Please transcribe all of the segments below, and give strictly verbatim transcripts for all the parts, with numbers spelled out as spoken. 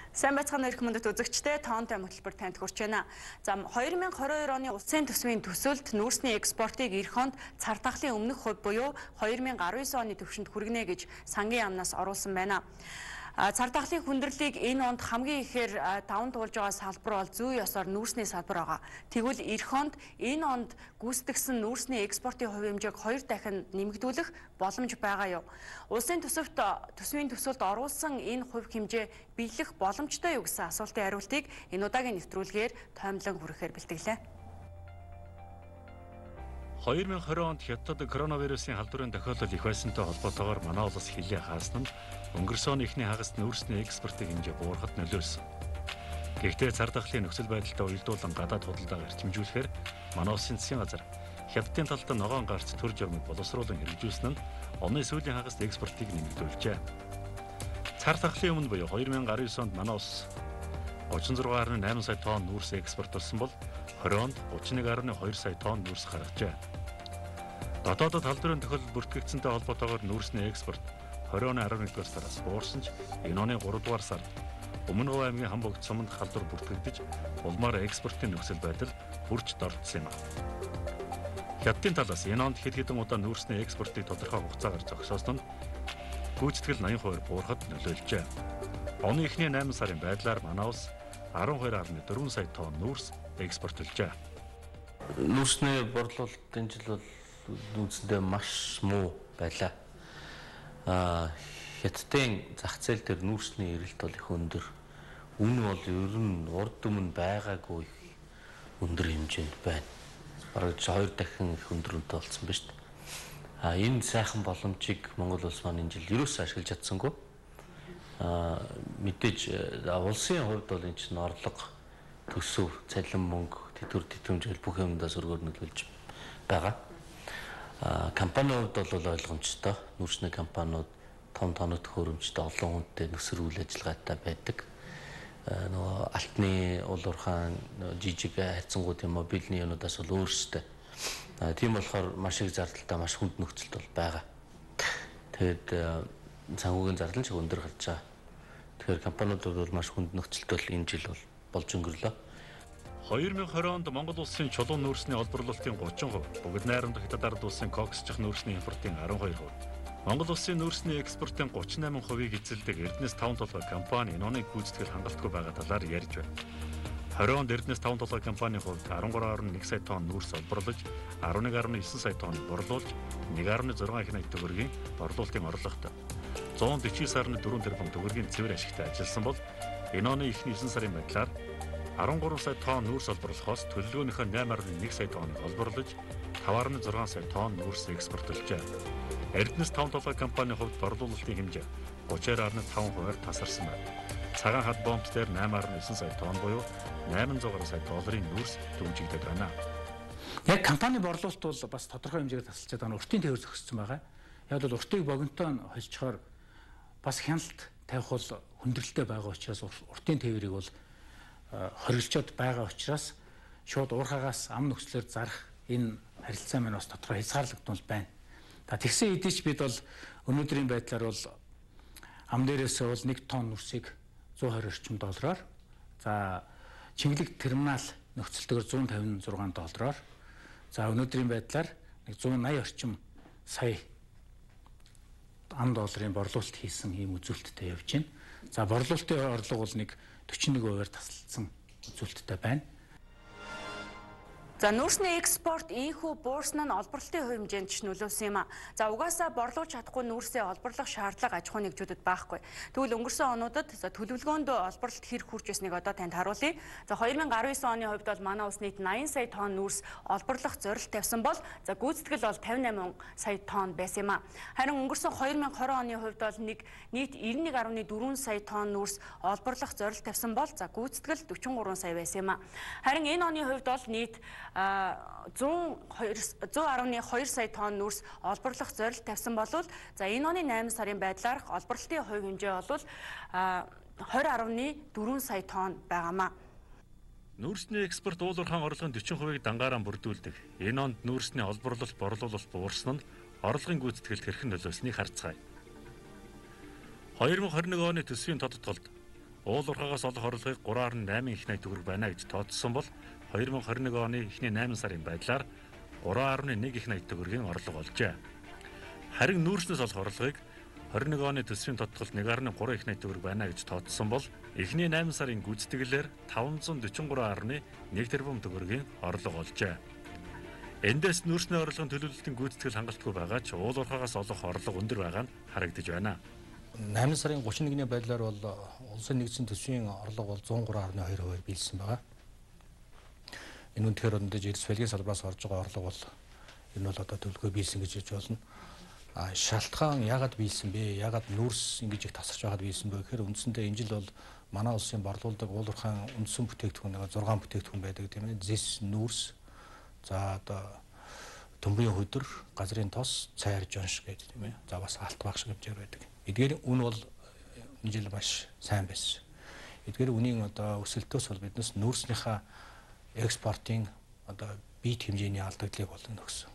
Сайн байцгаана өрх мөндөд үзэгчдээ тоонтой хөтөлбөр танд хүрч байна. За хоёр мянга хорин хоёр оны улсын төсвийн төсөлд нүүрсний экспортыг эх онд цар тахлын өмнөх хувь буюу хоёр мянга арван девять оны түвшинд хүргэнэ гэж сангийн яамнаас оруулсан байна. Цар тахлын хүндрэлийг энэ онд хамгийн ихээр даван туулж байгаа салбар бол зүй ёсоор нүүрсний салбар байгаа. Тэгвэл эх онд энэ онд гүйцэтгсэн нүүрсний экспортын хувь хэмжээг хоёр дахин нэмэгдүүлэх боломж байгаа юу? Улсын төсөвт төсвийн төсөлд оруулсан энэ хувь хэмжээ биелэх боломжтой юу гэсэн асуултын хариултыг энэ удаагийн нэвтрүүлгээр тоймлон хүрэхээр бэлтгэлээ. хоёр мянга хорин онд хятад коронавирусын халдварын тохиолдол их байсантай холбоотойгоор манай улс хилээ хаасан нь өнгөрсөн оны эхний хагас нүүрсний экспортын хэмжээ буурахад нөлөөлсөн. Гэхдээ цар тахлын нөхцөл байдалтай уялдуулан гадаад худалдааг эрчимжүүлэхээр манай улсын засгийн газар хятадын талд ногоон гарц төр журмыг боловсруулан хэрэгжүүлсэн нь оны сүүлийн хагаст экспортыг нэмэгдүүлжээ. Цар тахлын өмнө буюу хоёр мянга арван девять онд манай улс гучин зургаан гаруй найман сая тонн нүүрс экспортлсон бол хорин онд гучин нэг гаруй хоёр сая тонн нүүрс гаргажээ. Дотоодод халдварын тохиолдол бүртгэгдсэнтэй холбоотойгоор нүүрсний экспорт хорин оны арван нэгдүгээр сараас буурсан ч энэ оны гурав дугаар сард Өмнө Говь аймгийн Хамбогд суманд халдвар бүртгэгдэж улмаар экспортын нөхцөл байдал хүрч дордсон юм. Хятадын талаас энэ онд хэд хэдэн удаа нүүрсний экспортыг тодорхой хугацаагаар зогсоосон нь гүйцэтгэл найман хувиар буурахад нөлөөлжээ. Оны эхний найман сарын байдлаар манай улс арван хоёр гаруй дөрвөн сая тонн нүүрс экспортлжээ. Нүүрсний борлуулалт энэ жил бол нүүрсэндээ маш муу байлаа. Аа Хятадын зах зээл дээр нүүрсний эрэлт бол их өндөр. Үн бол ер нь урд өмнө байгаагүй өндөр хэмжээнд байна. Бараг хоёр дахин их өндөрөнтэй болсон ба шүү дээ. А энэ сайхан боломжийг Монгол улс маань энэ жил ерөөсөө ашиглаж чадсангүй. А мэдээж улсын хувьд бол энэ чинь орлого, төсөв, цалин мөнгө, тэтгэвэр тэтгэмжэл бүх юмдаа сөргөөр нөлөөлж байгаа. А компанийн хувьд бол ойлгомжтой. Нүүрсний компаниуд том тоног төхөөрөмжтэй олон хүнтэй нөхцөл үйл ажиллагаатай байдаг. Нөгөө алтны уул уурхайн жижиг хайцангуудын мобильны юунуудаас бол өөрсдөө. Тийм болохоор маш их зардалтай маш хүнд нөхцөлд бол байгаа. Тэгээд санхүүгийн зардал ч өндөр гарч байгаа. Тэгэхээр компаниуд бол маш хүнд нөхцөлд бол энэ жил бол болж өнгөрлөө. хоёр мянга хорин онд Монгол улсын чулуун нүүрсний олборлолтын гучин хувь, бүгд найрамдах Хятад ард улсын коксчих нүүрсний импортын арван хоёр хувь. Монгол улсын нүүрсний экспортын гучин найман хувийг эзэлдэг Эрдэнэс таван толгой компани энэ оны гүйцэтгэл хангалтгүй байгаа талаар ярьж байна. хорин онд Эрдэнэс таван толгой компанийн хувьд арван гурван гаруй нэг сая тонн нүүрс олборлож, арван нэг гаруй девять сая тонн борлуулж, нэг гаруй зургаан их найт төгрөгийн борлуулалтын орлоготой зуун дэвчээс гаруй дөрвөн тэрбум төгрөгийн цэвэр ашигтай ажилласан бол энэ оны эхний девять сарын байдлаар арван гурван сая тонн нүүрс олборлохоос төлөвлөгөөнийхөө найман гаруй нэг сая тонныг олборлож, таван гаруй зургаан сая тонн нүүрс экспортлжээ. Эрдэнэс таван толгой компанийн хувьд борлуулалтын хэмжээ гучин гаруй таван хувиар тасарсан байна. Цагаан хад бомб дээр найман гаруй девять сая тонн буюу найман зуун гаруй сая долларын нүүрс дэмжигдэж байна. Яг компани борлуулалт бол бас тодорхой хэмжээгээр тасалж байгаа. Уртын тээвэр зохицсон байгаа. Яг бол уртыг богинотоо холжчоор бас хяналт тавих бол хүндрэлтэй байгаа учраас уртын тээврийг бол хоригдчод байгаа учраас шууд уурхаагаас ам нөхцлөөр зарах энэ харилцаа маань бас тодорхой хязгаарлагдмал байна. За тэгсэн хэдий ч бид бол өнөөдрийн байдлаар бол ам дээрээс бол нэг тонн нүүрсийг зуун хорин орчим доллараар, за Чингэлэг терминал нөхцөлтөөр зуун тавин зургаан доллараар, за өнөөдрийн байдлаар нэг зуун наяа орчим сая ам долларын борлуулалт хийсэн ийм үзүүлэлттэй явж байна. За борлуулалтын орлого бол нэг forty-one хувиар тасалдсан үзүүлэлттэй байна. За нүүрсний экспорт ийхүү буурсан нь олборлолтын хувь хэмжээнд ч нөлөөлсөн юм а. За угаасаа борлуулж чадахгүй нүүрсээ олборлох шаардлага аж ахуй нэгжүүдэд байхгүй. Тэгвэл өнгөрсөн онуудад за төлөвлөгөөнд олборлолт хэрэг хүрч байсныг одоо танд харуулъя. За хоёр мянга арван девять оны хувьд бол манай улс нийт найман сая тонн нүүрс олборлох зорилт тавьсан бол за гүйцэтгэл бол тавин найман сая тонн байсан юм а. Харин өнгөрсөн хоёр мянга хорин оны хувьд бол нэг нийт девяносто нэг гаруй дөрвөн сая тонн нүүрс олборлох зорилт тавьсан бол за гүйцэтгэл forty three сая байсан юм а. Харин энэ оны хувьд бол нийт зуун гаруй two сая тонн нүүрс олборлох зорилт тавьсан болвол за энэ оны найман сарын байдлаар олборлолтын хувь хэмжээ бол twenty гаруй дөрвөн сая тонн байгаамаа. Нүүрсний экспорт уул уурхайн орлогын forty хувийг дангаараа бүрдүүлдэг. Энэ онд нүүрсний олборлолт борлуулалт буурсан нь орлогын гүйцэтгэлд хэрхэн нөлөөлснийг харцгаая. two thousand twenty-one оны төсвийн тодтолд уул уурхаагаас олох орлогыг гурван арван найман их найт төгрөг байна гэж тооцсон бол хоёр мянга хорин нэг оны эхний найман сарын байдлаар гурван арван нэг их найт төгрөгийн орлого олжээ. Харин нүүрснээс олох орлогыг хорин нэг оны төсвийн тодтолд нэг арван гурван их найт төгрөг байна гэж тооцсон бол эхний найман сарын гүйцэтгэлээр таван зуун дөрвөн гурван арван нэг тэрбум төгрөгийн орлого олжээ. Эндээс нүүрсний орлогын төлөвлөлтийн гүйцэтгэл хангалтгүй байгаа ч уул уурхаагаас олох орлого өндөр байгаа нь харагдаж байна. найман сарын гучин нэгний байдлаар бол улсын нэгдсэн төсвийн орлого бол зуун гурван арван хоёр хувиар биелсэн байгаа. Энэ үнэхээр өндөж эрс фэлгийн салбараас орж байгаа орлого бол энэ бол одоо төлөвлөгөө биелсэн гэж хэлж болно. А шалтгаан яагаад биелсэн бэ? Яагаад нүүрс ингэж их тасарч байгаад биелсэн бэ гэхээр үндсэндээ энэ жил бол манай улсын борлуулдаг уул уурхайн үндсэн бүтээгдэхүүн нэг зургаан бүтээгдэхүүн байдаг тийм ээ. Зис, нүүрс, за одоо төмрийн хөдөр, газрын тос, цайр, жонш гэдэг тийм ээ. За бас алт багш хэмжээр байдаг. Эдгээр үн бол энэ жил маш сайн байсан. Эдгээр үнийн одоо өсөлтөөс бол биднес нүүрснийхээ экспортын одоо бит хэмжээний алдагдлыг болно гэсэн.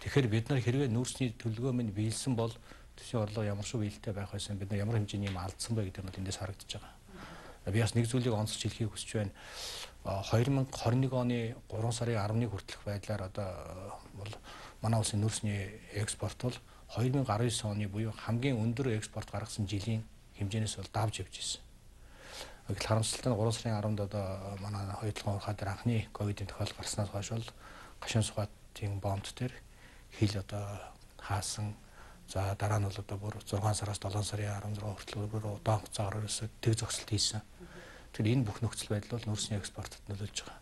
Тэгэхээр бид нар хэрвээ нүүрсний төлөвлөгөө минь биелсэн бол төсвийн орлого ямар шиг биелэлтэй байх байсан, бид нар ямар хэмжээний юм алдсан бэ гэдэг нь эндээс харагдаж байгаа. Би бас нэг зүйлийг онцлж хэлхийг хүсэж байна. хоёр мянга хорин нэг оны гурван сарын арван нэг хүртэлх байдлаар одоо бол манай улсын нүүрсний экспорт бол хоёр мянга арван девять оны буюу хамгийн өндөр экспорт гаргасан жилийн хэмжээнээс бол давж явж ирсэн. Гэтэл харамсалтай нь гурван сарын арванд одоо манай хоёрдугаар уурхай дээр анхны ковидын тохиолдол гарснаас хойш бол гашуун сугаатын бомб дээр хил одоо хаасан. За дараа нь бол одоо бүр зургаан сараас долоон сарын арван зургаан хүртэл бүр удаан хугацаагаар ерөөсөө тэг зогсолт хийсэн. Тэгэхээр энэ бүх нөхцөл байдал бол нүүрсний экспортод нөлөөлж байгаа.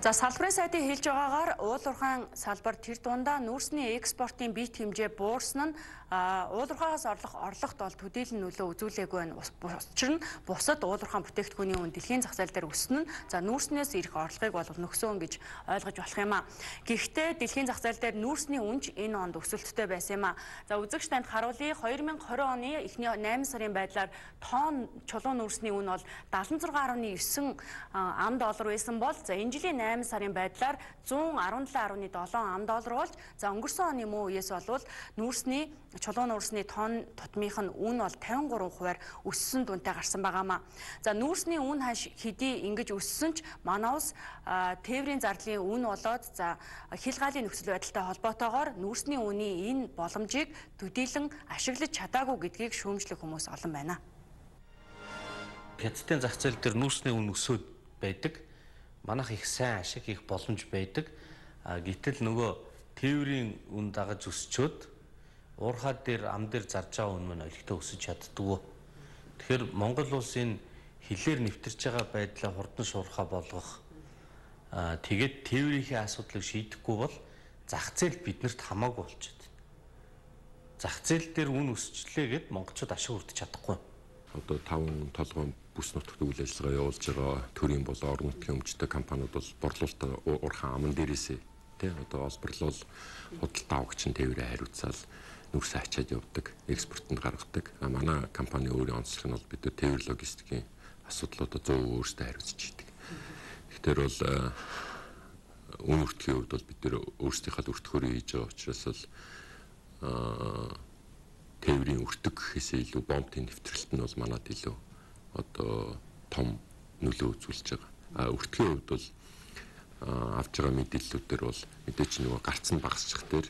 За салбарын сайдын хэлж байгаагаар уул уурхайн салбар тэр дундаа нүүрсний экспортын бит хэмжээ буурсан нь уул уурхаагаас орлох орлогот бол төдийлөн нөлөө үзүүлээгүй байна. Учир нь бусад уул уурхайн бүтээгдэхүүний үн дэлхийн зах зээл дээр өснө нь за нүүрснээс ирэх орлогыг бол нөхсөн гэж ойлгож болох юм а. Гэхдээ дэлхийн зах зээл дээр нүүрсний үнж энэ онд өсөлттэй байсан юм а. За үзэгч танд харуулъя хоёр мянга хорин оны эхний найман сарын байдлаар тонн чулуун нүүрсний үн бол дадлан зургаан арван девять ам доллар байсан бол за энэ жилийн найман сарын байдлаар зуун арван талан арван долоон ам доллар болж за өнгөрсөн оны муу үеэс болвол нүүрсний чулуун нүүрсний тонн тутмынх нь үн бол тавин гурван хувиар өссөн дүнтэй гарсан байгаамаа. За нүүрсний үн хаш хэдий ингэж өссөн ч манай улс тээврийн зардлын үн болоод за хилгаалын нөхцөл байдалтай холбоотойгоор нүүрсний үний энэ боломжийг төдийлөн ашиглаж чадаагүй гэдгийг шүүмжлэх хүмүүс олон байна. Хятадын зах зээл дээр нүүрсний үн өсөд байдаг. Манайх их сайн ашиг, их боломж байдаг. А гэтэл нөгөө тээврийн үн дагаж өсчөөд уурхай дээр ам дээр зарж байгаа үн мань олигтой өсөж чаддгүй. Тэгэхээр Монгол улсын хилээр нэвтэрч байгаа байдлаа хурдан шуурхай болгох аа тэгээд тээврийнхээ асуудлыг шийдэхгүй бол зах зээл биднэрт хамаагүй болчиход байна. Зах зээл дээр үн өсчлээ гэд монголчууд ашиг хүртэж чадахгүй. Одоо таван толгойн бүс нутагт үйл ажиллагаа явуулж байгаа төрийн бол орон нутгийн өмчтэй компаниуд бол борлуулалтаа уурхай аман дээрээсээ тий одоо олборлол худалдаа авагч нь тээврээ хариуцаал нүүрсээ ачаад явдаг, экспортод гаргадаг. А манай компани өөрийн онцлог нь бол бид тээвэр логистикийн асуудлуудад зөө өөрсдөө хариуцж идэг. Тэгэхээр бол үн өртгийн хувьд бол бид нэр өөрсдийнхээ өртгөөрөө хийж байгаа учраас бол тээврийн өртөг гэхээсээ илүү бомбын нэвтрэлт нь бол манад илүү одоо том нөлөө үзүүлж байгаа. А өртгийн хувьд бол авж байгаа мэдээллүүдээр бол мэдээч нөгөө гарц нь багасчих дээр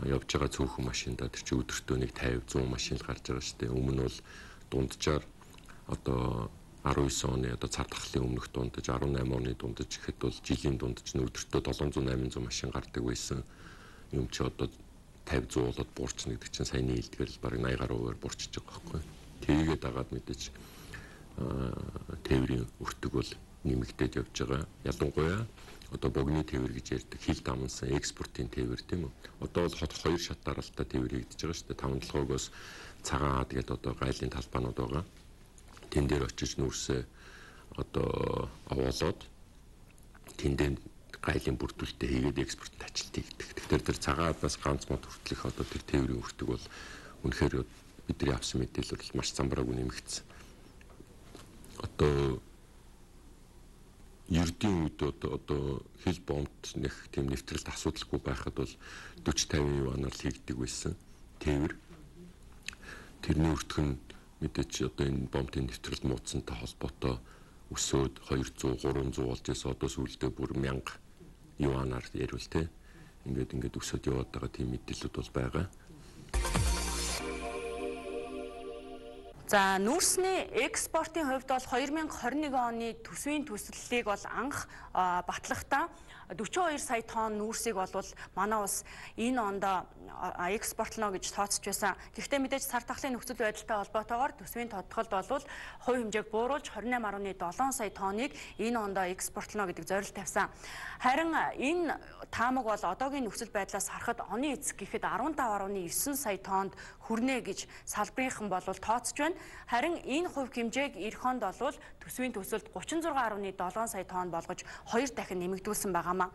явж байгаа цөөхөн машиндаа тэр чи өдөртөө нэг пятьдесят сто машин гарч байгаа шүү дээ. Өмнө нь бол дунджаар одоо арван девять оны одоо цар тахлын өмнөх дундаж арван найман оны дундаж гэхэд бол жилийн дундаж нь өдөртөө седем сто восемь сто машин гардаг байсан. Юм чи одоо пятьдесят сто болоод буурчна гэдэг чинь саяны хэлдгээр л бараг восемьдесят гаруй хувиар буурчиж байгаа байхгүй. Тэгээд дагаад мэдээж тээврийн өртөг бол нэмэгдээд явж байгаа. Ялангуяа одоо богны тээвэр гэж ярьдаг хил дамнсан экспортын тээвэр тийм үү. Одоо бол хоёр шат дараалтаа тээвэр хийгдэж байгаа шүү дээ. таван толгойгоос цагаан ад гэдэг одоо гайлын талбаанууд байгаа. Тэн дээр очиж нүүрсээ одоо овоолоод тэндээ гайлын бүрдүүлэлтээ хийгээд экспортод ажилт хийгдэх. Тэгэхээр тэр цагаан адаас ганц мод хүртэлх одоо тэр тээврийн өртөг бол үнэхээр бидний авсан мэдээлэл маш замбраагүй нэмэгдсэн. Одоо ердийн үед одоо хил бомбт нэг тийм нэвтрэлт асуудалгүй байхад бол forty fifty юанаар л хийгдэг байсан тээвэр. Тэрний өртөх нь мэдээч одоо энэ бомбын нэвтрэлт муудсантай холбоотой өсөөд двести триста болж байсан одоо сүүлдээ бүр мянга юанаар ярил те. Ингээд ингээд өсөд яваад байгаа тийм мэдээлэлүүд бол байгаа. За нүүрсний экспортын хувьд бол хоёр мянга хорин нэг оны төсвийн төслөлийг бол анх батлахдаа дөрвөн хоёр сая тонн нүүрсийг бол манай улс энэ онд экспортлно гэж тооцож байсан. Гэхдээ мэдээж сар тахлын нөхцөл байдалтай холбоотойгоор төсвийн тодтолд бол хувь хэмжээг бууруулж двадцать восемь нугтай седем сая тонныг энэ онд экспортлно гэдэг зорилт тавьсан. Харин энэ таамаг бол одоогийн нөхцөл байдлаас харахад оны эцэг гэхэд дөрвөн нугтай девять сая тоннд хүрнэ гэж салбарынхан бол тооцож байна. Харин энэ хувь хэмжээг эх онд бол төсвийн төсөлд тридцать шесть нугтай седем сая тонн болгож хоёр дахин нэмэгдүүлсэн байгаамаа.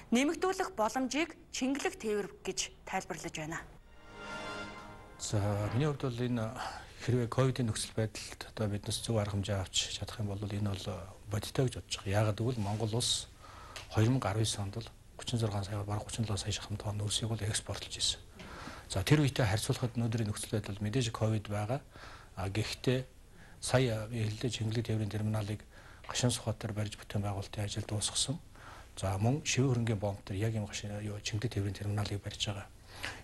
Нэмэгдүүлэх боломжийг чингэлэг тээвэр гэж тайлбарлаж байна. За миний хувьд бол энэ хэрвээ ковидын нөхцөл байдалд одоо биднес зөв арга хэмжээ авч чадах юм бол энэ бол бодиттой гэж бодож байгаа. Яагаад гэвэл Монгол улс two thousand nineteen онд бол тридцать шесть сая бараг тридцать семь сая шахам тонн нүүрсийг бол экспортлж ирсэн. За тэр үетэй харьцуулахад өнөөдрийн нөхцөл байдал мэдээж ковид байгаа. А гэхдээ сая хэллээ чингэлэг тээврийн терминалыг Гашуун Сухбаатар барьж бүтээн байгуулалтын ажил дуусгасан. За мөн шивээ хөрөнгийн бомб төр яг юм гашуун юу чингэлэг тээврийн терминалыг барьж байгаа.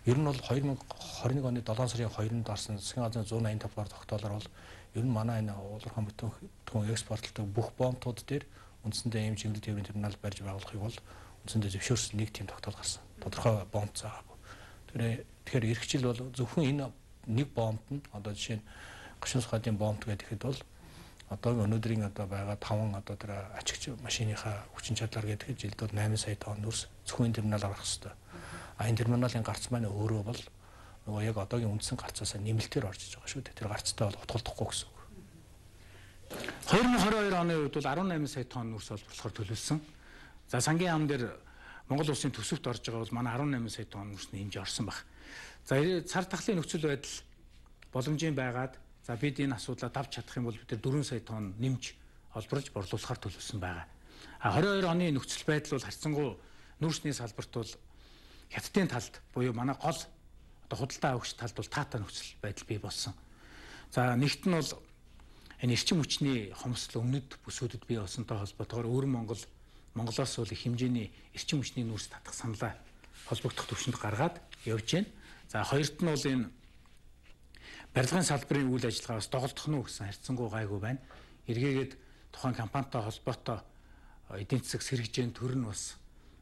Ер нь бол two thousand twenty-one оны seven сарын second-нд орсон засгийн газрын one ninety-five дугаар тогтоолоор бол ер нь манай энэ уулархан бүтээн экспортлдог бүх бомбтууд дээр үндсэндээ ийм чингэлэг тээврийн терминал барьж байгуулахыг бол үндсэндээ зөвшөөрсөн нэг тийм тогтоол гарсан. Тодорхой бомб заагаагүй. Тэгэхээр эрхчил бол зөвхөн энэ нэг бомбд нь одоо жишээ нь Гашуун Сухбаатарын бомб гэхэд бол одоогийн өнөөдрийн одоо байгаа таван одоо тэр ачигч машиныхаа хүчин чадлаар гэдэг жилд бол eight сая тонн нүүрс зөвхөн терминал гарах хэрэгтэй. А энэ терминалын гарц маань өөрөө бол нөгөө яг одоогийн үндсэн гарцаасаа нэмэлтээр орж иж байгаа шүү дээ. Тэр гарцтай бол утгалдахгүй гэсэн үг. twenty twenty-two оны үед бол eighteen сая тонн нүүрс олборлохоор төлөвлөсөн. За сангийн яам дээр Монгол улсын төсөвт орж байгаа бол манай eighteen сая тонн нүүрсний хэмжээ орсон баг. За цар тахлын нөхцөл байдал боломжийн байгаад за бид энэ асуудлаа давж чадах юм бол бид four сая тонн нэмж олборлож борлуулахар төлөвлөсөн байгаа. А twenty-two оны нөхцөл байдал бол харьцангуй нүүрсний салбарт бол хятадын талд буюу манай гол одоо худалдаа авагч талд бол таатай нөхцөл байдал бий болсон. За нэгт нь бол энэ эрчим хүчний хомсдол өмнөд бүсүүдэд бий болсонтой холбоотойгоор өөр Монгол Монголоос бол их хэмжээний эрчим хүчний нүүрс татах саналаа холбогдох төвшөнд гаргаад явж байна. За хоёрт нь бол энэ барилгын салбарын үйл ажиллагаас доголдох нь гэсэн харьцангуй гайгүй байна. Эргээгээд тухайн компанитай холбоотой эдийн засаг сэргэжийн төр нь бас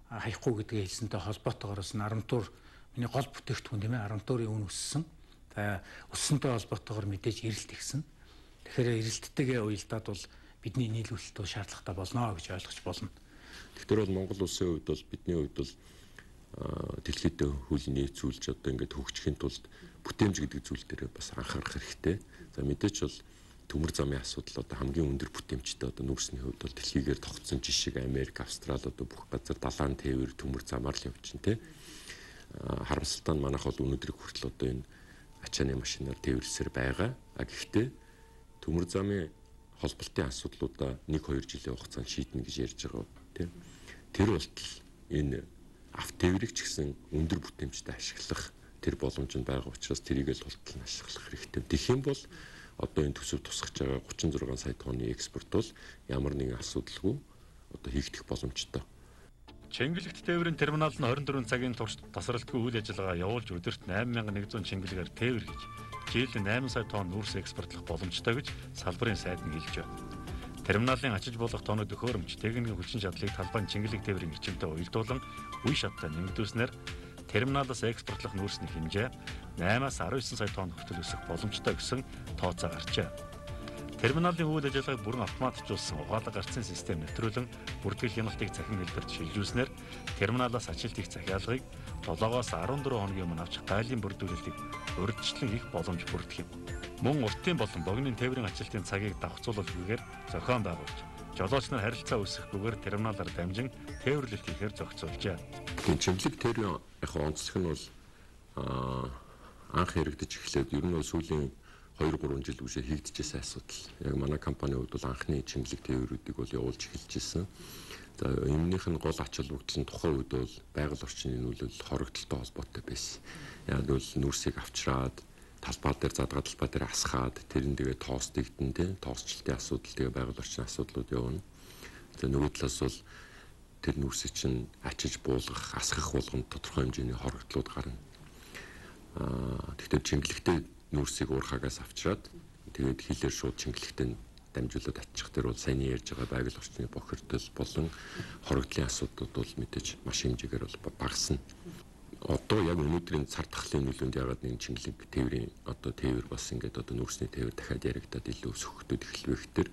хаяхгүй гэдгээ хэлсэнтэй холбоотойгоор бас Арамтуур миний гол бүтээгдэхүүн тийм ээ Арамтуурын үн өссөн. За өссөнтэй холбоотойгоор мэдээж эрэлт ихсэн. Тэгэхээр эрэлттэйгээ уялдаад бол бидний нийлүүлэлт бол шаардлагатай болно гэж ойлгож болно. Тэгэхээр бол Монгол улсын хувьд бол бидний хувьд бол дэлхийд хуулийн нийцүүлж одоо ингээд хөгжихийн тулд бүтээмж гэдэг зүйл дээр бас анхаарах хэрэгтэй. За мэдээч бол төмөр замын асуудал одоо хамгийн өндөр бүтээмжтэй одоо нүүрсний хувьд бол дэлхийгээр тогтсон жишээ Америк, Австрали одоо бүх газар далайн тээвэр төмөр замаар л явж байна те. Харамсалтай нь манайх бол өнөөдрийг хүртэл одоо энэ ачааны машинаар тээвэрлсээр байгаа. А гэхдээ төмөр замын холболтын асуудлуудаа нэг хоёр жилийн хугацаанд шийднэ гэж ярьж байгаа тийм. Тэр болтол энэ автотээврийг ч гэсэн өндөр бүтээмжтэй ашиглах тэр боломж нь байгаа учраас тэрийг л тултал нь ашиглах хэрэгтэй. Тэгэх юм бол одоо энэ төсөв тусгаж байгаа тридцать six сая тонны экспорт бол ямар нэгэн асуудалгүй одоо хийгдэх боломжтой. Чингэлэгт тээврийн терминал нь twenty-four цагийн турш тасралтгүй үйл ажиллагаа явуулж өдөрт eight thousand one hundred чингэлгээр тээвэр хийж жилд eight сая тонн нүүрс экспортлох боломжтой гэж салбарын сайд нь хэлж байна. Терминалын ачиж болох тоног төхөөрөмж техникийн хүчин чадлыг талбайн чингэлэг тээврийн эрчимтэй уялдуулан үе шаттай нэмэгдүүлснээр терминалаас экспортлох нүүрсний хэмжээ eight-аас nineteen сая тонн хүртэл өсөх боломжтой гэсэн тооцоо гарчээ. Терминалын үйл ажиллагааг бүрэн автоматжуулсан угаалга гарцын систем нэвтрүүлэн бүртгэл хяналтыг цахим хэлбэрт шилжүүлснээр терминалаас ажилт их захиалгыг seven-оос fourteen хоногийн өмнө авч гайлын бүрдүүлэлтийг урьдчилан их боломж бүрдэх юм. Мөн уртын болон богино тээврийн ажилтны цагийг давхцуулалгүйгээр зохион байгуулж, жолооч нар харилцаа үүсгэхгүйгээр терминалаар дамжин тээвэрлэлт хийхээр зохицуулжээ. Чингэлэг тээврийн яг онцлог нь бол анх яригдж эхлээд ер нь бол сүүлийн two three жил үсээ хийгдчихсэн асуудал. Яг манай компанийн хувьд бол анхны чингэлэг тээврүүдийг бол явуулж эхэлжсэн. За өмнөх нь гол ач холбогдол нь тухайн үед бол байгаль орчны нөлөөлөл хоригдолтой холбоотой байсан. Яг бол нүүрсийг авчраад талбай дээр задгаа талбай дээр асхаад тэрэн тэгээ тоостигдэн тий тоосчлтын асуудал тэгээ байгаль орчны асуудлууд явна. Тэгээ нөгөө талаас бол тэр нүүрсийг чинь ачиж буулгах, асгах болгонд тодорхой хэмжээний хорогдлууд гарна. Аа тэгэхээр чингэлэгтэй нүүрсийг уурхаагаас авчираад тэгээд хилээр шууд чингэлэгтэй дамжуулаад ачих тэр бол сайн ярьж байгаа байгаль орчны бохирдол болон хорогдлын асуудлууд бол мэдээж маш хэмжээгээр бол багасна. Одоо яг өнөөдрийн цар тахлын нөлөөнд ягаад нэг чингэлэг тээврийн одоо тээвэр бас ингээд одоо нүүрсний тээвэр дахиад яригадад илүү өсөхөд эхэлвэх тэр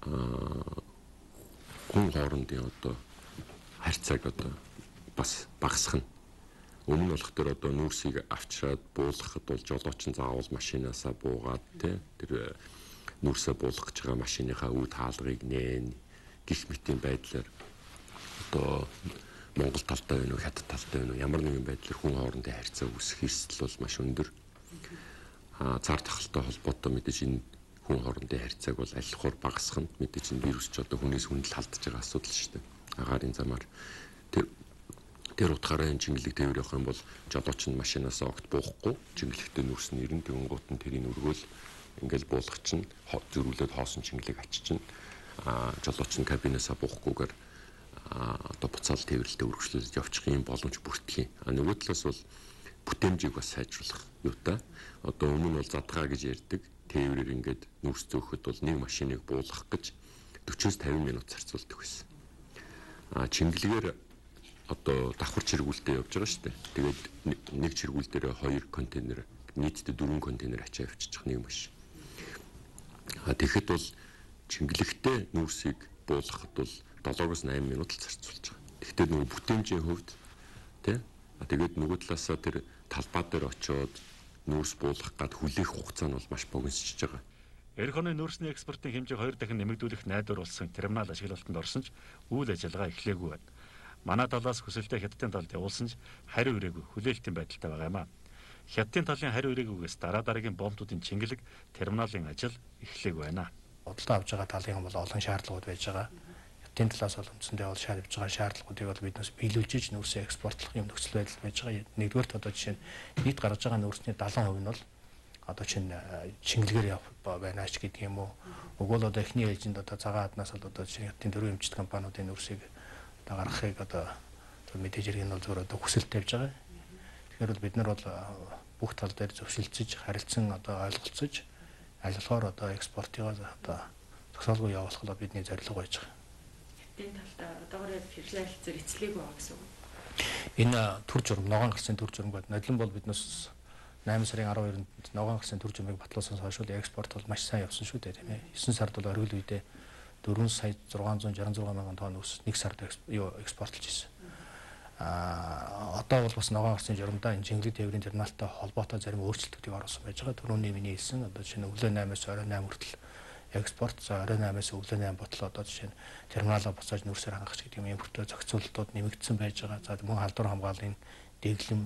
аа хүн хоорондын одоо харьцааг одоо бас багасгах нь. Өмнө нь болох тэр одоо нүүрсийг авчираад буулгахад бол жолооч нь заавал машинаасаа буугаад тий тэр нүүрсээ буулгах гэж байгаа машиныхаа үүд хаалгыг нээн гих мэтийн байдлаар одоо Монгол талтай байна уу, хятад талтай байна уу, ямар нэгэн байдлаар хүн хоорондын харьцаа үүсэх эрсдэл бол маш өндөр. Аа цар тахалтай холбоотой мэдээж энэ хүн хоорондын харьцааг бол аль хоор багасгах нь мэдээж энэ вирус ч одоо хүнээс хүнд л халдж байгаа асуудал шүү дээ. Агаарын замаар тэр тэр утгаараа энэ чингэлэг тээвэр явах юм бол жолооч нь машинаас огт буухгүй, чингэлэгтэй нүүрс нь ирэн тэгэнгუут нь тэрийг өргөөл ингээл буулгах чинь зөрүүлээд хоосон чингэлэг ачиж чинь аа жолооч нь кабинасаа буухгүйгээр одоо буцаал тээвэрлэлтэд үргэлжлүүлж явчих юм боломж бүртгэх юм. А нөгөө талаас бол бүтээмжийг бас сайжруулах юутай. Одоо өмнө нь бол задгаа гэж ярьдаг. Тээврээр ингээд нүүрс зөөхөд бол нэг машиныг буулгах гэж forty-five минут зарцуулдаг байсан. А чингэлгээр одоо давхар чиргүүлэлтэд явж байгаа шүү дээ. Тэгээд нэг чиргүүл дээр хоёр контейнер нийтдээ дөрвөн контейнер ачаа авчиж нэг машин. А тэгэхэд бол чингэлэгтэй нүүрсийг буулгахад бол seven-аас eight минут л зарцуулж байгаа. Гэхдээ нөгөө бүтээмжийн хувьд тий а тэгээд нөгөө талаасаа тэр талбай дээр очиод нүүрс буулгах гад хүлээх хугацаа нь бол маш богиносчж байгаа. Эх оны нүүрсний экспортын хэмжээг хоёр дахин нэмэгдүүлэх найдварласан терминал ашиглалтанд орсон ч үйл ажиллагаа эхлээгүй байна. Манай талаас хүсэлтэд хятадын талд явуулсан ч хариу ирээгүй хүлээлтийн байдалтай байгаа юм а. Хятадын талын хариу ирээгүйгээс дараа дараагийн бомбуудын чингэлэг терминалын ажил эхлэегүй байна. Бодлоо авж байгаа талын бол олон шаардлагууд байж байгаа. Хятадын талаас бол үндсэндээ бол шаарж байгаа шаардлагуудыг бол биднээс биелүүлж нүүрсээ экспортлох юм нөхцөл байдал байж байгаа. Нэгдүгээрт одоо жишээ нь нийт гаргаж байгаа нүүрсний seventy percent нь бол одоо чинь чингэлгээр явах байна ч гэдэг юм уу. Өгөөл одоо эхний ээлжинд одоо цагаан хаднаас бол одоо чинь хятадын дөрвөн эмчит компаниудын нүүрсийг одоо гаргахыг одоо мэдээж хэрэг нь бол зөвхөн одоо хүсэлт тавьж байгаа. Тэгэхээр бол бид нар бол бүх тал дээр зөвшөлдсөж, харилцан одоо ойлголцож, аль болохоор одоо экспортыг одоо зогсоолгүй явуулах нь бидний зорилго байж байгаа. Хятадын талд одоогоор федерал хэлцээр эцлэегүй байгаа гэсэн үг. Энэ төр журам, ногоон гарсан төр журам гэдэг нодлон бол биднээс eight сарын twelve-нд ногоон гарсан төр журмыг батлуулсан хойш экспорт бол маш сайн явсан шүү дээ тийм ээ. nine сард бол оргил үедээ four сая six hundred sixty-six мянган тонн ус нэг сард юу экспортлж ирсэн. А одоо бол бас ногоон гарсан журамдаа энэ чингэлэг тээврийн терминалтай холбоотой зарим өөрчлөлтүүдийг оруулсан байж байгаа. Түрүүний миний хэлсэн одоо жишээ нь өглөө eight-аас орой eight хүртэл экспорт за орой eight-аас өглөө eight ботлоо одоо жишээ нь терминалаа буцааж нүүрсээр хангах гэдэг юм импортоо зохицуулалтууд нэмэгдсэн байж байгаа. За мөн халдвар хамгааллын дэглэм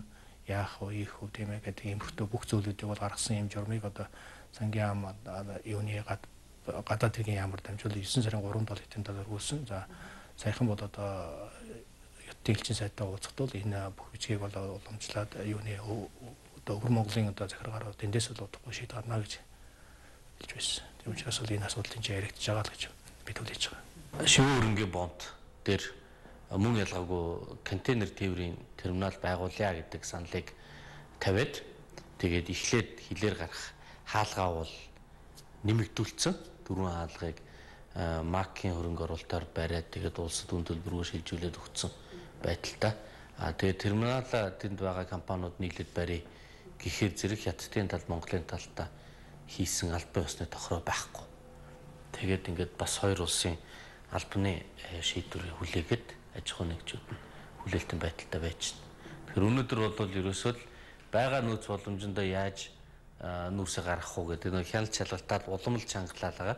яах вэ их үү тийм ээ гэдэг импортоо бүх зүйлүүдийг бол гаргасан юм журмыг одоо сангийн ам юуны гадаад хэргийн ямар дамжуул nine сарын three-нд бол хятадын талаар өгүүлсэн. За саяхан бол одоо Дэлхийн сайтай уулзахдаа энэ бүх бичгийг бол уламжлаад юуны одоо Өвөр Монголын одоо захиргаар тэндээс л удахгүй шийд гарна гэж хэлж байсан. Тийм учраас бол энэ асуудлын чинь яригдж байгаа л гэж бид хүлээж байгаа. Шивэн хөрөнгөний бонд дээр мөн ялгаагүй контейнер тээврийн терминал байгуулъя гэдэг саналыг тавиад тэгээд эхлээд хилээр гарах хаалгаа бол нэмэгдүүлсэн. Дөрвөн хаалгыг маркийн хөрөнгө оруулалтаар бариад тэгээд улсад үн төлбөрөөр шилжүүлээд өгсөн байдалтай. А тэгээд терминал тэнд байгаа компаниуд нийлээд барь гэхээр зэрэг хятадын талд Монголын талдаа хийсэн албан ёсны тохироо байхгүй. Тэгээд ингээд бас хоёр улсын албаны шийдвэрийг хүлээгээд аж ахуй нэгжүүд нь хүлээлтийн байдалтай байж байна. Тэгэхээр өнөөдөр бол ерөөсөө л байгаа нөөц боломжтой яаж нүүрсээ гаргах уу гэдэг нэг хяналт шалгалтаар уламжлалт чангалаалгаа.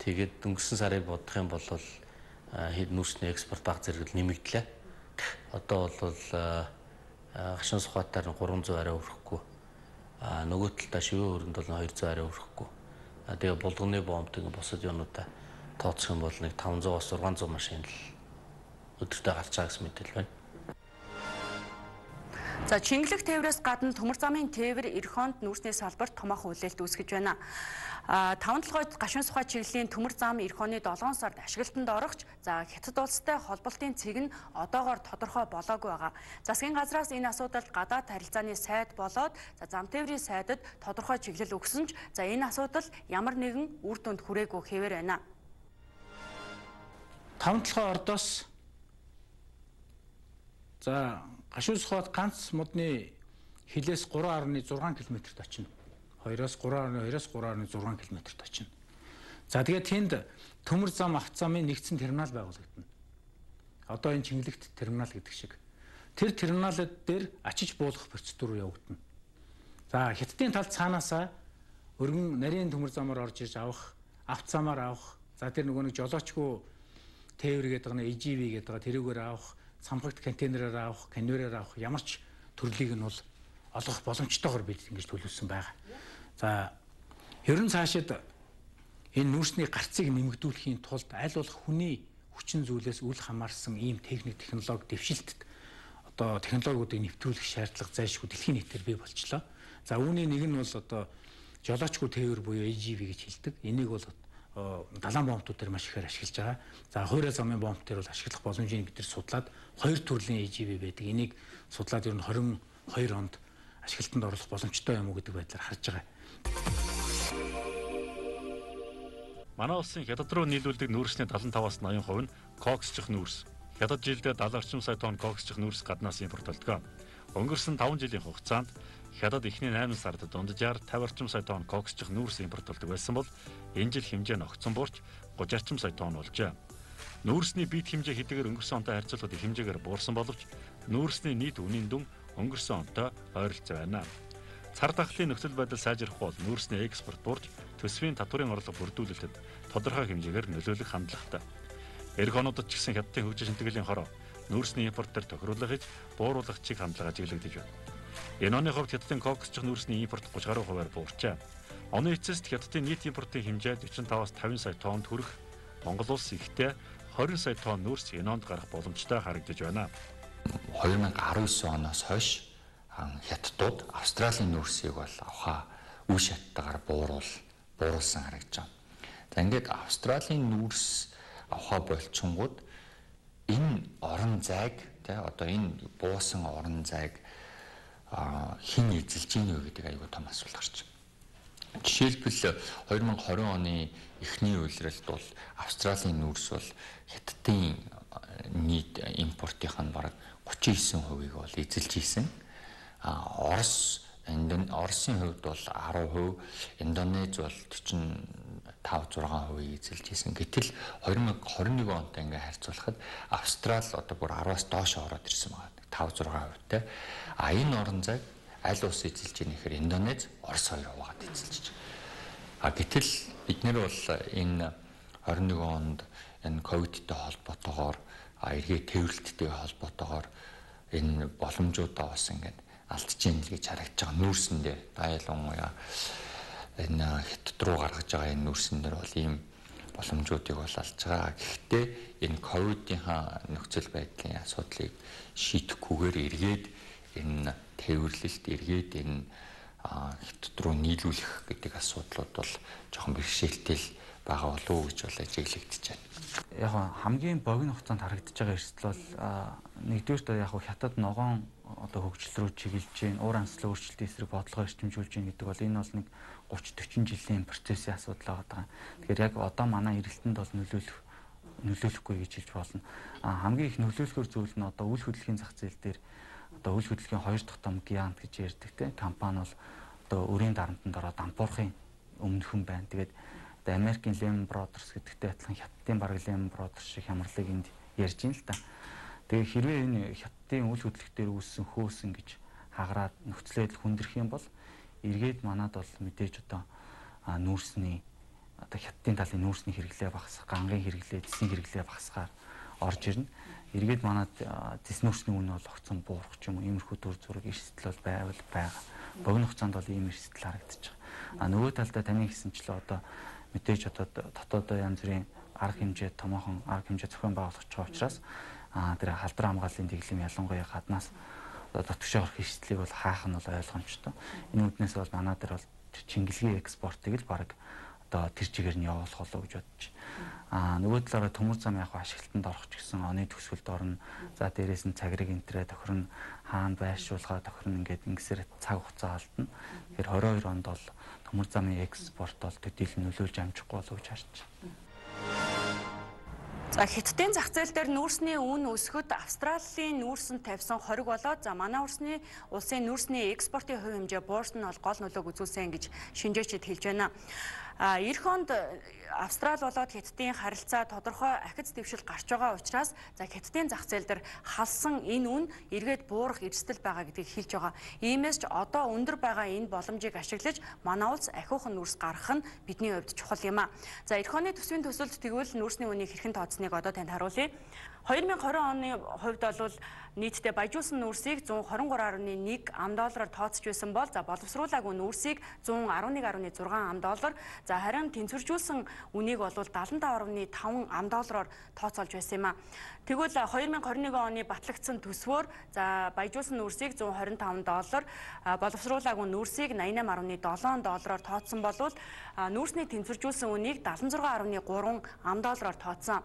Тэгээд өнгөрсөн сарыг бодох юм бол хэд нүүрсний экспорт баг зэрэг нэмэгдлээ. Одоо бол гашуун сухатаар three hundred арай өрөхгүй. А нөгөө талдаа шивэн хөрөнд бол two hundred арай өрөхгүй. А тэгээ булганы бомб тэгээ босод юунуудаа тооцох юм бол нэг five hundred-аас six hundred машин л өдөртөө гарч байгаа гэсэн мэдээлэл байна. За Чингэлэг тээврээс гадна төмөр замын тээвэр эх хонд нүүрсний салбарт томоохон хүлээлт үүсгэж байна. А таван толгойд гашуун сухай чиглэлийн төмөр зам эх оны долоон сард ашиглалтанд орохч за Хятад улстай холболтын цэг нь одоогоор тодорхой болоогүй байгаа. Засгийн газраас энэ асуудалд гадаад харилцааны сайд болоод за зам тээврийн сайдад тодорхой чиглэл өгсөн ч за энэ асуудал ямар нэгэн үр дүнд хүрээгүй хэвээр байна. Таван толгой ордоос за гашуун сухайд ганц модны хилээс гурван гаруй зургаан километрт очино. хоёроос гурван гаруй хоёроос гурван гаруй зургаан километрт очино. За тэгээд тэнд төмөр зам автозамын нэгдсэн терминал байгуулагдана. Одоо энэ Чингэлэгт терминал гэдэг шиг. Тэр терминалууд дээр очиж буулгах процедур явагдана. За Хятадын талд цаанаасаа өргөн нарийн төмөр замаар орж иж авах, автозамаар авах, за тэр нөгөө нэг жолоочгүй тээвэр гэдэг нэг и жи ви гэдэг тэрүүгээр авах, самхагт контейнераар авах, конвейераар авах ямар ч төрлийг нь бол олгох боломжтойгоор бид ингэж төлөвлөсөн байгаа. За ерөн цаашид энэ нүүрсний гарцыг нэмэгдүүлэхийн тулд аль болох хүний хүчин зүйлээс үл хамаарсан ийм техник технологи дэвшилтэд одоо технологиудыг нэвтрүүлэх шаардлага зайлшгүй дэлхийн нийтээр бий болчлоо. За үүний нэг нь бол одоо жолоочгүй тээвэр буюу и жи ви гэж хэлдэг. Энийг бол далайн бомбтууд дээр маш ихээр ашиглаж байгаа. За хуурай замын бомб дээр бол ашиглах боломжийг бид нар судлаад хоёр төрлийн и жи ви байдаг. Энийг судлаад ер нь двадцать и deux онд ашиглалтанд оруулах боломжтой юм уу гэдэг байдлаар харж байгаа. Манай улсын Хятад руу нийлүүлдэг нүүрсний seventy-five-аас eighty percent нь коксчих нүүрс. Хятад жилдээ seventy орчим сая тонн коксчих нүүрс гаднаас импортлдог. Өнгөрсөн five жилийн хугацаанд Хятад эхний eight сард дунджаар fifty орчим сая тонн коксчих нүүрс импортлдог байсан бол энэ жил хэмжээ нь огцон буурч thirty орчим сая тонн болжээ. Нүүрсний бит хэмжээ хэдийгээр өнгөрсөн онтой харьцуулахад их хэмжээгээр буурсан боловч нүүрсний нийт үнийн дүн өнгөрсөн онтой ойролцоо байна. Цар тахлын нөхцөл байдал сайжрах бол нүүрсний экспорт буурч төсвийн татварын орлого бүрдүүлэлтэд тодорхой хэмжээгээр нөлөөлөх хандлагатай. Эх онуудад ч гэсэн Хятадын хөгжил шинтгэлийн хороо нүүрсний импорт дээр тохируулах гэж бууруулах чиг хандлага ажиглагдаж байна. Энэ оны хувьд Хятадын коксчих нүүрсний импорт thirty гаруй хувиар буурчээ. Оны эцэст Хятадын нийт импортын хэмжээ forty-five-аас fifty сая тоннд хүрэх, Монгол улс ихтэй twenty сая тонн нүүрс энэ онд гарах боломжтой харагдаж байна. twenty nineteen оноос хойш Хятадууд Австралийн нүүрсийг бол авахаа үе шаттайгаар бууруул бууруулсан харагдаж байна. За ингээд Австралийн нүүрс авахаа болчихгонгууд энэ орон зайг тий одоо энэ буусан орон зайг хэн эзэлж ийн вэ гэдэг аюул том асуулт гарч байна. Жишээлбэл twenty twenty оны эхний үйлрэлд бол Австралийн нүүрс бол Хятадын нийт импортынх нь бараг thirty-nine percent-ийг бол эзэлж ийсэн. А Орос Оросын хувьд бол ten percent, Индонез бол forty-five six percent эзэлж ийсэн. Гэтэл twenty twenty-one онтой ингээ харьцуулахад Австрал одоо бүр ten-аас доош ороод ирсэн байна. five six percent-тэй. А энэ орон зайг аль улс эзэлж ийм нэхэр Индонез, Орос хоёр хуваагаад эзэлж байна. А гэтэл бид нэр бол энэ twenty-one онд энэ ковидтэй холбоотойгоор эргээ тээвэрлэлттэй холбоотойгоор энэ боломжуудаа бас ингээд алдчихээн л гэж харагдаж байгаа. Нүүрсэн дээр дайлангуяа энэ Хятад руу гаргаж байгаа энэ нүүрсэн дээр бол ийм боломжуудыг бол алж байгаа. Гэхдээ энэ ковидынхаа нөхцөл байдлын асуудлыг шийдэхгүйгээр эргээд энэ тээвэрлэлт эргээд энэ Хятад руу нийлүүлэх гэдэг асуудлууд бол жоохон бэрхшээлтэй байгаа болов уу гэж бол ажиглагдаж байна. Яг хамгийн богино хугацаанд харагдаж байгаа эрсдэл бол нэгдүгээр яг Хятад ногоон одоо хөгжил рүү чиглэж гин, уур амьсгалын өөрчлөлтийн эсрэг бодлогоо эрчимжүүлж гин гэдэг бол энэ бол нэг thirty forty жилийн процессын асуудал байгаа. Тэгэхээр яг одоо манай эрэлтэнд бол нөлөөлөх нөлөөлөхгүй гэж хэлж болно. А хамгийн их нөлөөлөхөр зүйл нь одоо үйл хөдлөлийн зах зээл дээр одоо үйл хөдлөлийн хоёр дахь том гигант гэж ярьдаг те компани бол одоо өрийн дарамтанд ороод дампуурхын өмнөхөн байна. Тэгээд одоо Америкийн Lehman Brothers гэдэгтэй адилхан Хятадын бараг Lehman Brothers шиг хямралыг энд ярьж ин л та. Тэгээ хэрвээ энэ Хятадын үйл хөдлөх дээр үүссэн хөөсөн гэж хагараад нөхцөл байдал хүндрэх юм бол эргээд манад бол мэдээж одоо нүүрсний одоо Хятадын талын нүүрсний хэрэглээ багасгах, гангийн хэрэглээ, цэсийн хэрэглээ багасгаар орж ирнэ. Эргээд манад цэс нүүрсний үн бол огцон буурах ч юм уу иймэрхүү төр зураг эрсдэл бол байвал байгаа. Богино хугацаанд бол ийм эрсдэл харагдаж байгаа. А нөгөө талдаа таны хэлсэнчлээ одоо мэдээж одоо дотоодоо янз бүрийн арга хэмжээ томоохон арга хэмжээ зохион байгуулах ч учраас а тэр халдвар хамгааллын дэглэм ялангуяа гаднаас дотгошоор хишлийг бол хаах нь бол ойлгомжтой. Энэ үднээс бол манай дээр бол Чингэлгийн экспортыг л баг одоо тэр чигээр нь явуулах болов гэж бодож байна. Аа нөгөө талаараа төмөр зам яг ашиглалтанд орох ч гэсэн оны төгсгөлд орно. За дээрээс нь цагрыг энтрээ тохирно, хаана байршуулгаа тохирно ингээд ингэсээр цаг хугацаа алдна. Тэгэхээр двадцать two онд бол төмөр замын экспорт бол төдийлөн нөлөөлж амжихгүй болов гэж харж байна. За Хятадын зах зээл дээр нүүрсний үн өсөхөд Австралийн нүүрсэнд тавьсан хориг болоод за манай улсны улсын нүүрсний экспортын хувь хэмжээ буурсан нь бол гол нөлөөг үзүүлсэн гэж шинжээчид хэлж байна. А эх онд Австрали болоод Хятадын харилцаа тодорхой ахиц дэвшил гарч байгаа учраас за Хятадын зах зээл дээр халсан энэ үн эргээд буурах эрсдэл байгаа гэдгийг хэлж байгаа. Иймээс ч одоо өндөр байгаа энэ боломжийг ашиглаж манай улс ахиухан нүүрс гаргах нь бидний хувьд чухал юм а. За эх оны төсвийн төсөлд тэгвэл нүүрсний үнийг хэрхэн тооцсныг одоо танд харуулъя. two thousand twenty оны хувьд бол нийтдээ баяжуулсан нүүрсийг one twenty-three point one ам доллараар тооцож байсан бол за боловсруулаагүй нүүрсийг one eleven point six ам доллар за харин тэнцвэржүүлсэн үнийг бол seventy-five point five ам доллараар тооцоолж байсан юм а. Тэгвэл two thousand twenty-one оны батлагдсан төсвөөр за баяжуулсан нүүрсийг one twenty-five доллар боловсруулаагүй нүүрсийг eighty-eight point seven доллараар тооцсон болвол нүүрсний тэнцвэржүүлсэн үнийг seventy-six point three ам доллараар тооцсон.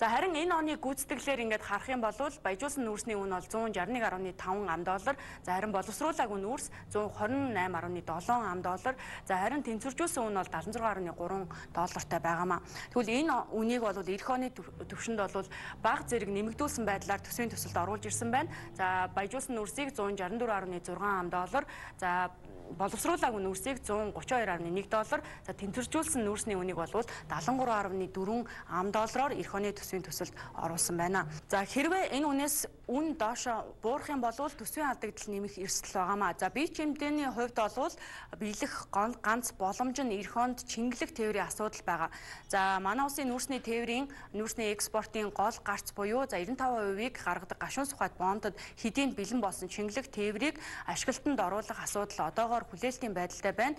За харин энэ оны гүйцэтгэлээр ингээд харах юм бол баяжуулсан нүүрсний үн бол one sixty-one point five ам доллар, за харин боловсруулаагүй нүүрс one twenty-eight point seven ам доллар, за харин тэнцвэржүүлсэн үн бол seventy-six point three доллартай байгаамаа. Тэгвэл энэ үнийг бол эх оны төвшөнд бол бага зэрэг нэмэгдүүлсэн байдлаар төсвийн төсөлд оруулж ирсэн байна. За баяжуулсан нүүрсийг one sixty-four point six ам доллар, за боловсруулаагүй нүүрсийг one thirty-two point one доллар, за тэнцвэржүүлсэн нүүрсний үнийг бол seventy-three point four ам доллараар эх оны төсвийн төсөлд оруулсан байна. За хэрвээ энэ үнээс үн доошо буурах юм бол төсвийн алдагдал нэмэх эрсдэл байгаамаа. За бие чимдээний хувьд бол биелэх ганц боломж нь эх онд чингэлэг тээврийн асуудал байгаа. За манай улсын нүүрсний тээврийн нүүрсний экспортын гол гарц буюу за ninety-five percent-ийг гаргадаг гашуун сухад бондод хэдийн бэлэн болсон чингэлэг тээврийг ашиглалтанд оруулах асуудал одоогоор хүлээлтийн байдалтай байна.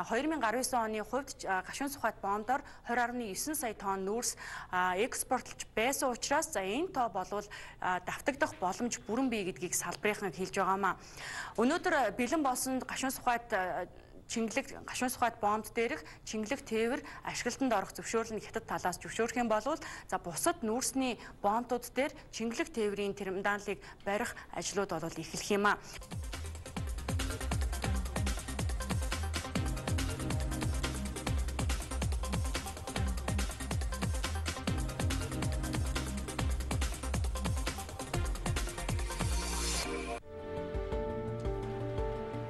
two thousand nineteen оны хувьд гашуун сухад бондоор twenty point nine сая тонн нүүрс экспортлж байсан учраас за энэ тоо болвол давтагдах боломж бүрэн бий гэдгийг салбарынхан хэлж байгаамаа. Өнөөдөр бэлэн болсон гашуун сухад чингэлэг гашуун сухад бонд дээрх чингэлэг тээвэр ашиглалтанд орох зөвшөөрлөг Хятад талаас зөвшөөрөх юм бол за бусад нүүрсний бондууд дээр чингэлэг тээврийн терминалыг барих ажлууд бол эхлэх юм а.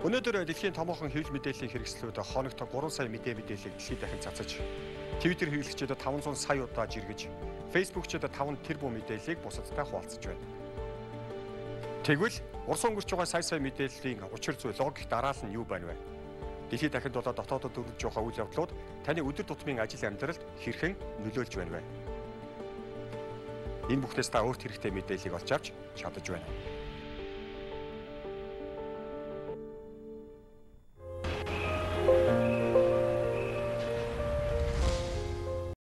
Өнөөдөр дэлхийн томоохон хэвлэл мэдээллийн хэрэгслүүд хоногт three сая мэдээ мэдээллийг дэлхийд дахин цацаж, Twitter хэрэглэгчид five hundred сая удаа жиргэж, Facebook-чид five тэрбум мэдээллийг бусадтай хуваалцаж байна. Тэгвэл Урс өнгөрч байгаа сая сая мэдээллийн учир зүйл логик дараал нь юу байна вэ? Дэлхийд дахинд болоод дотоодод өргөж байгаа үйл явдлууд таны өдөр тутмын ажил амьдралд хэрхэн нөлөөлж байна вэ? Энэ бүхнээс та өөрт хэрэгтэй мэдээллийг олж авч чадаж байна.